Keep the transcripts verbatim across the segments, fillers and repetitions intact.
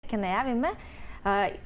Ќе најавиме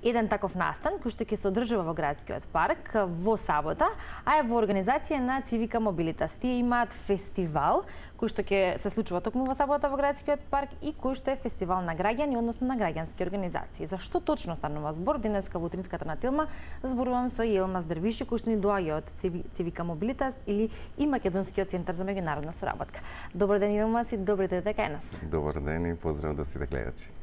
еден таков настан кој што ќе се одржува во градскиот парк во сабота, а е во организација на Цивика Мобилитас. Тие имаат фестивал кој што ќе се случува токму во сабота во градскиот парк и кој што е фестивал на граѓани, односно на граѓански организации. За што точно станува збор? Денеска во утринската на Телма зборувам со Јелмаз Дервиши кој што ни доаѓа од Цивика Мобилитас или и Македонскиот центар за меѓународна соработка. Добар ден, Јелмаз, и добре дојдете кај нас. Добар ден и поздрав до сите гледачи.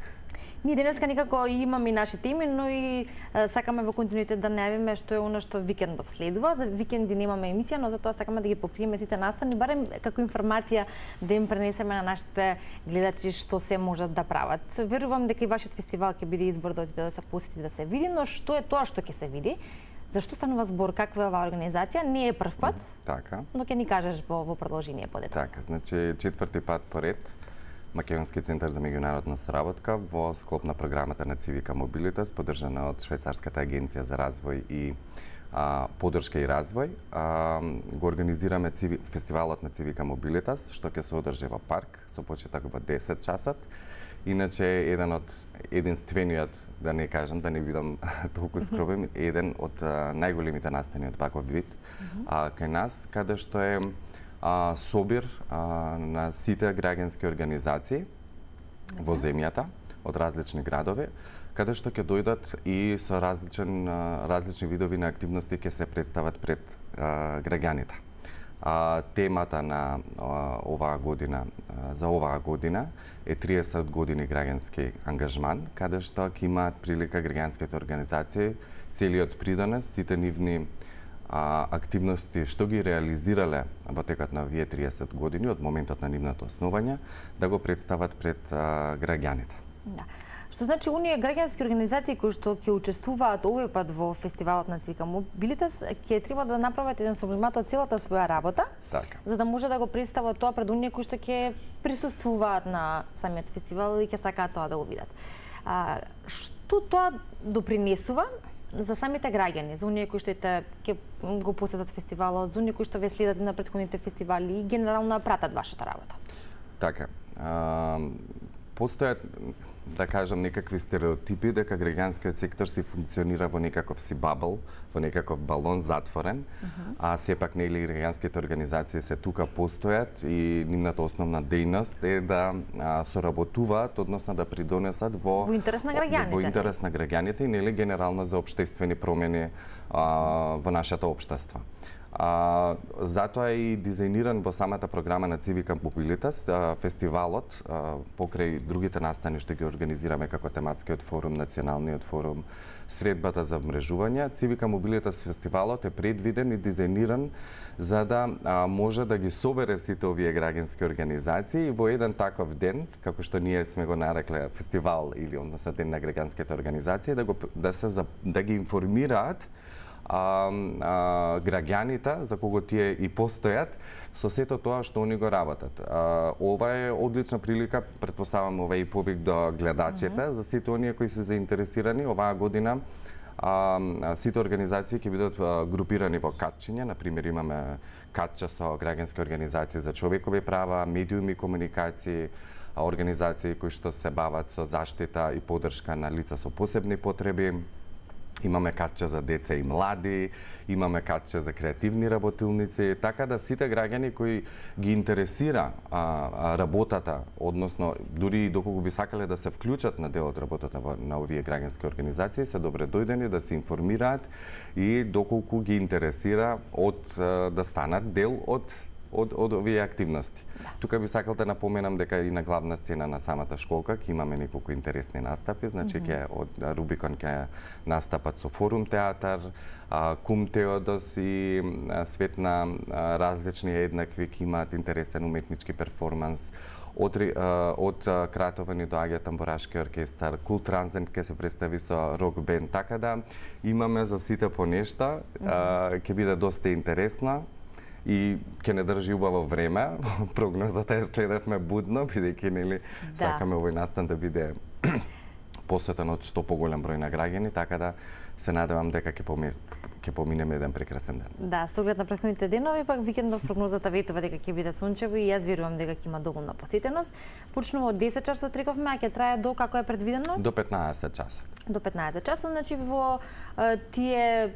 Ние денеска некако имаме и наши теми, но и е, сакаме во континуитет да најавиме што е она што викендов следува. За викенди немаме емисија, но затоа сакаме да ги покриеме сите настани, барем како информација да им пренесеме на нашите гледачи што се можат да прават. Верувам дека и вашиот фестивал ќе биде избор да отиде да се посети, да се види, но што е тоа што ќе се види? Зашто станува збор? Каква е оваа организација? Не е прв пат, така, но ќе ни кажеш во, во продолжение подетално. Така, значи четврти пат поред Македонски центар за меѓународна соработка во склоп на програмата на Цивика Мобилитас, поддржана од Швајцарската агенција за развој и а, поддршка и развој, а, го организираме циви, фестивалот на Цивика Мобилитас, што ќе се одржи во парк со почеток во десет часот. Иначе еден од единствениот, да не кажам, да не бидам толку скромен, еден од а, најголемите настани од ваков вид а, кај нас, каде што е А, собир а, на сите граѓански организации okay. во земјата од различни градови, каде што ќе дојдат и со различен, а, различни видови на активности ќе се представат пред а, граѓаните. А, темата на а, оваа година, а, за оваа година е триесет години граѓански ангажман, каде што ќе имаат прилика граѓанските организации целиот придонес, сите нивни А, активности што ги реализирале во текот на овие триесет години од моментот на нивното основање, да го представат пред а, граѓаните. Да. Што значи оние граѓански организации кои што ќе учествуваат овој пат во фестивалот на Цивика Мобилитас ќе треба да направат еден сублимат од целата своја работа, така, за да може да го представат тоа пред оние кои што ќе присуствуваат на самиот фестивал и ќе сакаат тоа да го видат. А, што тоа допринесува за самите граѓани, за оние кои што ќе го посетат фестивалот, за оние кои што ве следат на претходните фестивали и генерално пратат вашата работа? Така, а, постојат, да кажам, некакви стереотипи дека граѓанскиот сектор си функционира во некаков си бабл, во некаков балон затворен, uh -huh. а сепак нели граѓанските организации се тука постојат и нивната основна дејност е да а, соработуваат, односно да придонесат во во интерес на граѓаните. Во интерес на граѓаните и нели генерално за општествени промени а, во нашето општество. А, затоа е и дизајниран во самата програма на Цивика Мобилитас фестивалот, а, покрај другите настани што ги организираме како тематскиот форум, националниот форум, средбата за вмрежување. Цивика Мобилитас фестивалот е предвиден и дизајниран за да а, може да ги собере сите овие граѓански организации во еден таков ден, како што ние сме го нарекле фестивал или односно ден на граѓанските организации, да го да се да ги информираат А, а, граѓаните за кого тие и постојат со сето тоа што они го работат. А, ова е одлична прилика, претпоставам ова и повик до гледачите, mm -hmm. за сите оние кои се заинтересирани оваа година. А, сите организации ќе бидат а, групирани во катчиња, на пример имаме катча со граѓански организации за човекови права, медиуми и комуникации, организации кои што се бават со заштита и поддршка на лица со посебни потреби. Имаме катче за деца и млади, имаме катче за креативни работилници, така да сите граѓани кои ги интересира а, а, работата, односно дури и доколку би сакале да се вклучат на дел од работата во, на овие граѓански организации, се добре дојдени да се информираат и доколку ги интересира од да станат дел од од од овие активности. Да. Тука би сакал да напоменам дека и на главна сцена на самата школка ќе имаме неколку интересни настапи, значи ќе mm -hmm. од Рубикон ќе настапат со Форум театар, Кум Теодос и Свет на различни еднакви ќе имаат интересен уметнички перформанс. Од, од Кратово ни доаѓа тамбурашки оркестар, Кул Транзент ќе се представи со рок бенд, така да имаме за сите по нешта, mm -hmm. ќе биде доста интересна и ќе не држи убаво време. Прогнозата ја следевме будно, бидејќи нели да. Сакаме овој настан да биде посетен од што поголем број на граѓани, така да се надевам дека ќе ќе поминеме еден прекрасен ден. Да, со оглед на претходните денови, пак викендов прогнозата ветува дека ќе биде сончево и јас верувам дека ќе има доволна посетеност. Почнува од десет часот рековме, а ќе трае до како е предвидено? До петнаесет часа. До петнаесет часот, значи во тие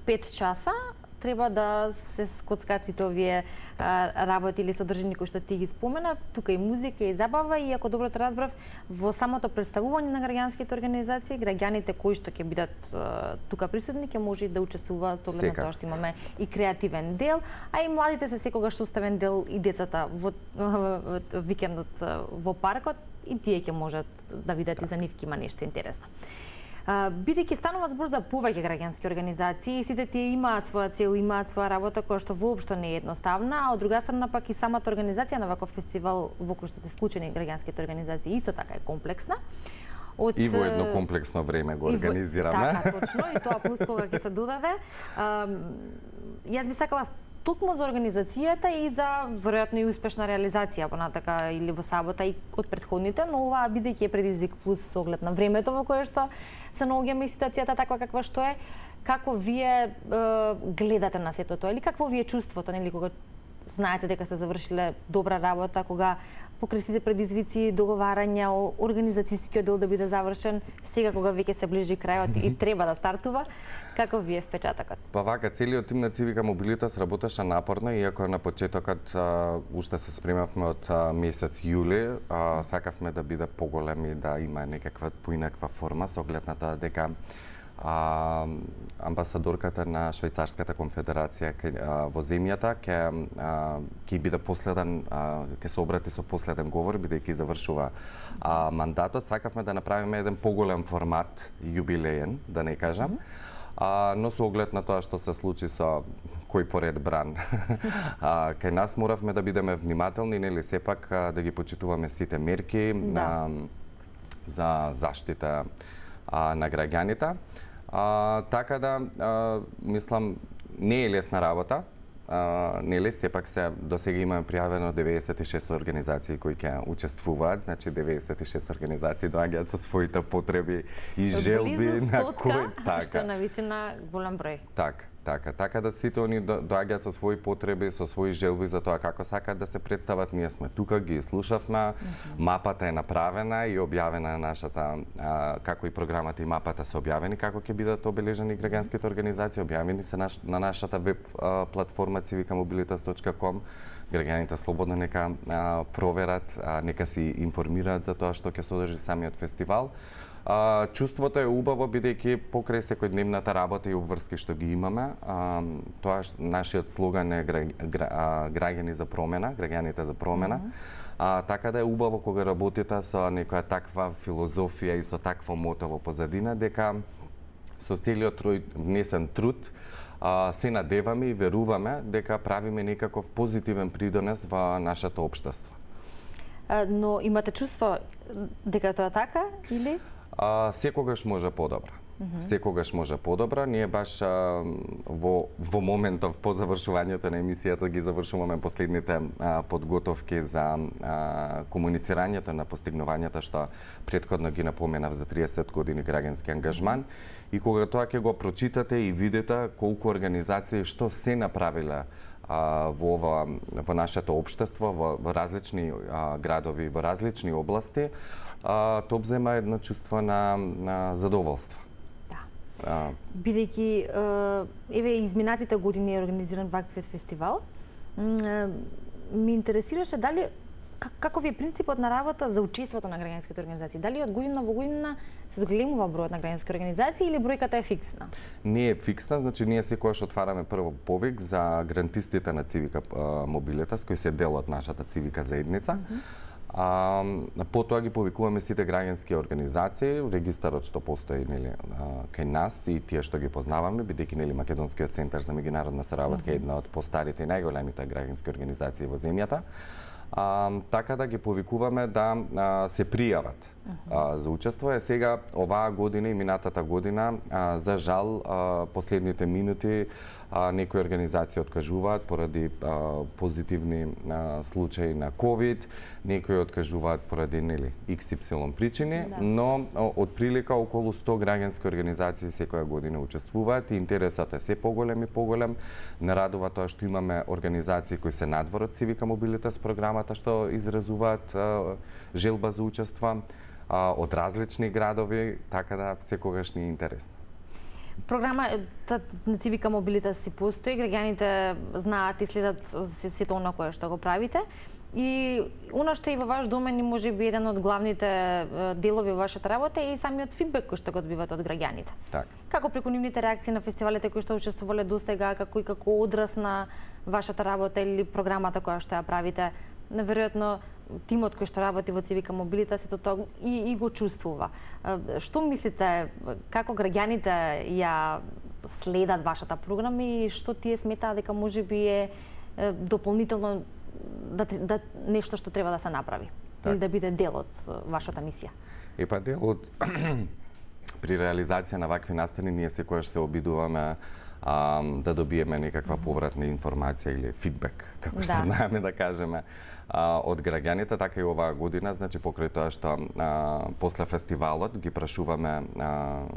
пет часа треба да се скоцкаат сите овие работи или содржини кои што ти ги спомена, тука и музика и забава, и ако добро те разбрав, во самото представување на граѓанските организации, граѓаните кои што ќе бидат тука присутни ќе може и да учествуваат, оглед на тоа што имаме и креативен дел, а и младите се секогаш составен дел, и децата во викендот во паркот, и тие ќе можат да видат, и за нив ќе има нешто интересно. Бидејќи станува збор за повеќе граѓански организации, сите тие имаат своја цел, имаат своја работа која што воопшто не е едноставна, а од друга страна пак и самата организација на ваков фестивал во кој што се вклучени граѓанските организации исто така е комплексна. Од... И во едно комплексно време го организираме. Во... Така, точно, и тоа плюс кога ќе се додаде. Јас би сакала токму за организацијата и за веројатно и успешна реализација понатака или во сабота и од претходните, но оваа бидејќи е предизвик плюс со оглед на времето во кое што се наоѓаме и ситуацијата таква каква што е, како вие е, гледате на сето тоа, или какво ви е чувството, нели, кога знаете дека сте завршиле добра работа, кога покрај сите предизвици, договарања, организацијскиот дел да биде завршен, сега кога веќе се ближи крајот и треба да стартува, како ви е впечатокот? Па вака, целиот тим на Цивика Мобилитас работеше напорно, иако на почетокот а, уште се спремавме од а, месец јули, а, сакавме да биде поголем и да има некаква поинаква форма, со оглед на тоа дека а, амбасадорката на Швајцарската конфедерација а, во земјата ќе ќе биде последен, ќе се обрати со последен говор, бидејќи завршува а, мандатот. Сакавме да направиме еден поголем формат, јубилеен, да не кажам. А, но со оглед на тоа што се случи со кој поред бран, а, кај нас моравме да бидеме внимателни, нели сепак а, да ги почитуваме сите мерки да. на, за заштита а, на граѓаните. А, така да, а, мислам, не е лесна работа, Uh, нели, сепак се до сега имаме пријавено деветдесет и шест организации кои ќе учествуваат, значи деветдесет и шест организации доаѓаат со своите потреби и желби на кој така. Што е навистина голем број. Така, така, така да сите они доаѓаат со своји потреби, со своји желби за тоа како сакаат да се представат. Ние сме тука, ги слушавме, mm -hmm. мапата е направена и објавена на нашата, а, како и програмата и мапата се објавени, како ќе бидат обележени граѓанските организации, објавени се наш, на нашата веб а, платформа цивика мобилитас точка ком. Граѓаните слободно нека а, проверат, а, нека си информираат за тоа што ќе содржи самиот фестивал. А, чувството е убаво, бидејќи покрај секојдневната работа и обврски што ги имаме, а, тоа нашиот слоган е гра, гра, а, граѓани за промена, граѓаните за промена. Mm -hmm. а, така да е убаво кога работите со некоја таква филозофија и со такво мото во позадина, дека со целиот внесен труд а, се надеваме и веруваме дека правиме некаков позитивен придонес во нашето општество. А, но имате чувство дека тоа така или? А, секогаш може подобро. Mm -hmm. Секогаш може подобро. Ние баш а, во, во моментов по завршувањето на емисијата ги завршуваме последните а, подготовки за а, комуницирањето на постигнувањата што претходно ги напоменав за триесет години граѓански ангажман. Mm -hmm. И кога тоа ќе го прочитате и видите колку организации што се направиле а, во ова, во нашето општество, во, во различни а, градови, во различни области, а, тоа зема едно чувство на, на задоволство. Да. Бидејќи еве изминатите години е организиран ваквиот фестивал, ми интересираше дали како ви е принципот на работа за учеството на граѓанските организации? Дали од година во година се зголемува бројот на граѓански организации или бројката е фиксна? Не е фиксна, значи ние секогаш отвараме прво повик за грантистите на Цивика Мобилитас, кои се дел од нашата цивика заедница. Mm -hmm. А, потоа ги повикуваме сите граѓански организации, регистарот што постои нели кај нас и тие што ги познаваме, бидејќи нели Македонскиот центар за меѓународна соработка е една од постарите и најголемите граѓански организации во земјата. а, така да ги повикуваме да а, се пријават а, за учество. Е сега оваа година и минатата година, а, за жал, а, последните минути а, некои организации откажуваат поради а, позитивни а, случаи на ковид, некои откажуваат поради нели икс ипсилон причини, да. Но од прилика околу сто граѓански организации секоја година учествуваат и интересот е се поголем и поголем. Не радува тоа што имаме организации кои се надвор од Civica Mobilitas програмата што изразуваат а, желба за учество а, од различни градови, така да секогаш ни е интересно. Програмата на Civica Mobilitas си постои, граѓаните знаат и следат сето она кое што го правите. И она што е и во ваш домен и можеби еден од главните делови во вашата работа е и самиот фидбек кој што го добивате од граѓаните. Так. Како преку нивните реакции на фестивалите кои што учествувале досега, како и како одраз на вашата работа или програмата која што ја правите, неверојатно тимот кој што работи во Civica Mobilitas сето тоа и, и го чувствува. Што мислите, како граѓаните ја следат вашата програма и што тие сметаат дека можеби е дополнително да, да нешто што треба да се направи, так. Или да биде дел од вашата мисија? И па дел од при реализација на вакви настани ние секогаш се обидуваме а, да добиеме некаква повратна информација или фидбек, како што да. знаеме да кажеме, а, од граѓаните, така и оваа година, значи покрај тоа што а, после фестивалот ги прашуваме а,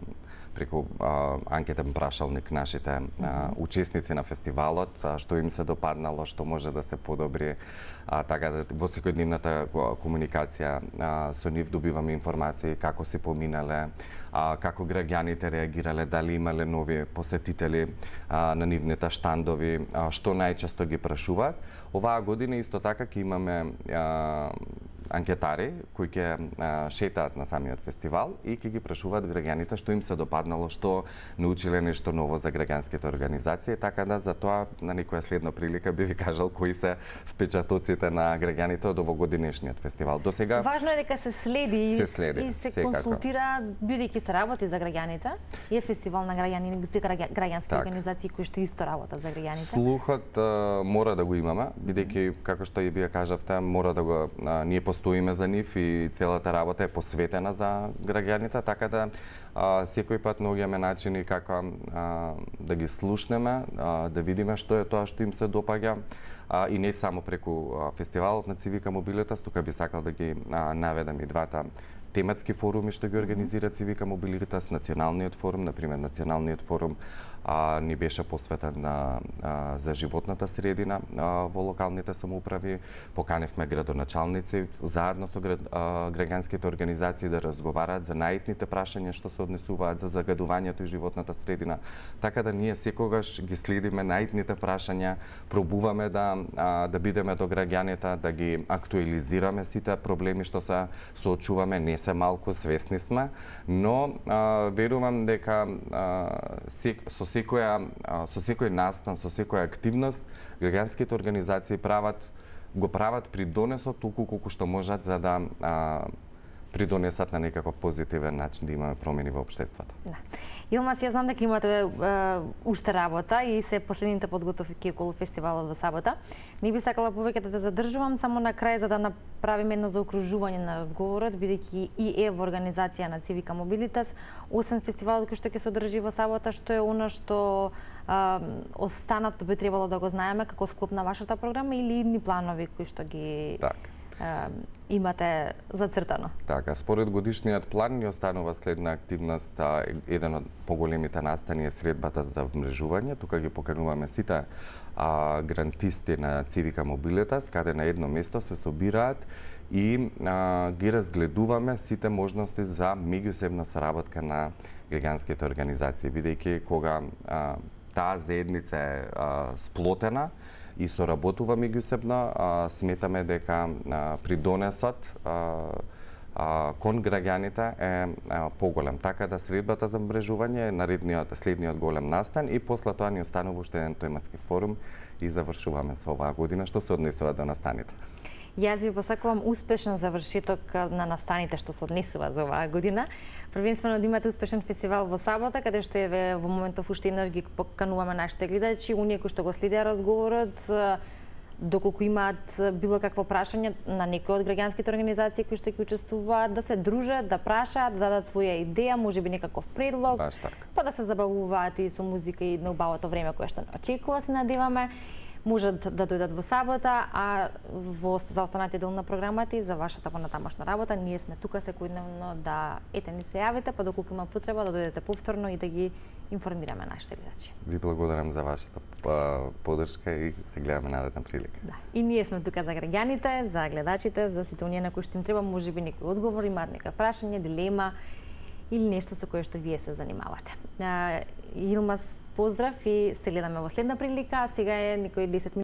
преку а, анкетен прашалник нашите а, учесници на фестивалот, а, што им се допаднало, што може да се подобри, а, така да во секојдневната комуникација а, со нив добиваме информации како се поминале, а, како граѓаните реагирале, дали имале нови посетители а, на нивните штандови, а, што најчесто ги прашуваат. Оваа година исто така ќе имаме а, анкетари кои ќе шетаат на самиот фестивал и ќе ги прашуваат граѓаните што им се допаднало, што научиле нешто ново за граѓанските организации, така да за тоа на некоја следна прилика би ви кажал кои се впечатоците на граѓаните од овогодинешниот фестивал. До сега важно е дека се следи, се следи и се секако. консултира, бидејќи се работи за граѓаните. И е фестивал на граѓани, граѓански так. организации кои што исто работат за граѓаните. Слухот а, мора да го имаме, бидејќи како што и вие кажавте, мора да го а, ние стоиме за нив и целата работа е посветена за граѓаните, така да а, секој пат наоѓаме начини како а, да ги слушнеме, а, да видиме што е тоа што им се допаѓа, а, и не само преку а, фестивалот на Civica Mobilitas, тука би сакал да ги а, наведам и двата тематски форуми што ги организира Civica Mobilitas, националниот форум, например националниот форум а, ни беше посветен на а, за животната средина а, во локалните самоуправи. Поканевме градоначалници заедно со град, а, граѓанските организации да разговараат за наитните прашања што се однесуваат за загадувањето и животната средина. Така да ние секогаш ги следиме наитните прашања, пробуваме да а, да бидеме до граѓаните, да ги актуализираме сите проблеми што се соочуваме, не се малку, свесни сме, но а, верувам дека а, сек, со секоја со секој настан, со секоја активност граѓанските организации прават го прават придонесот толку колку што можат за да а, придонесат на некаков позитивен начин да имаме промени во општеството. Да. Илмас, ја знам дека имате е, уште работа и се последните подготовки околу фестивалот во сабота. Не би сакала повеќе да те задржувам, само на крај за да направиме едно заокружување на разговорот, бидејќи и е во организација на Civica Mobilitas, освен фестивалот кој што ќе се одржи во сабота, што е она што а, останато би требало да го знаеме како склоп на вашата програма или идни планови кои што ги так. а, имате зацртано? Така, според годишниот план ни останува следна активност, а, еден од поголемите настани е средбата за вмрежување. Тука ги покануваме сите а, грантисти на Civica Mobilitas, каде на едно место се собираат и а, ги разгледуваме сите можности за меѓусебна соработка на граѓанските организации, бидејќи кога а, таа заедница е а, сплотена и соработува меѓусебно, сметаме дека а, придонесот а, а, кон граѓаните е а, поголем. Така да средбата за мрежување е наредниот, следниот голем настан и после тоа ни останува уште еден тематски форум и завршуваме со оваа година, што се однесува до настаните. Јас ви посакувам успешен завршеток на настаните што се однесува за оваа година. Првенствено да имате успешен фестивал во сабота, каде што е во моментов уште еднаш ги покануваме нашите гледачи, оние кои што го следеа разговорот, доколку имаат било какво прашање на некои од граѓанските организации кои што ќе учествуваат, да се дружат, да прашаат, да дадат своја идеја, можеби некаков предлог, Баш така. па да се забавуваат и со музика и на убавото време кое што очекува, се надеваме. Можат да дојдат во сабота, а во за останатиот дел на програмата и за вашата понатамошна работа, ние сме тука секојдневно да ете ни се јавите, па доколку има потреба да дојдете повторно и да ги информираме нашите гледачи. Ви благодарам за вашата а, подршка и се гледаме наредна прилика. Да. И ние сме тука за граѓаните, за гледачите, за сите оние на кои што им треба можеби некој одговор, имаат нека прашање, дилема или нешто со кое што вие се занимавате. А, Илмаз, поздрав и се гледаме во следна прилика, а сега е некои десет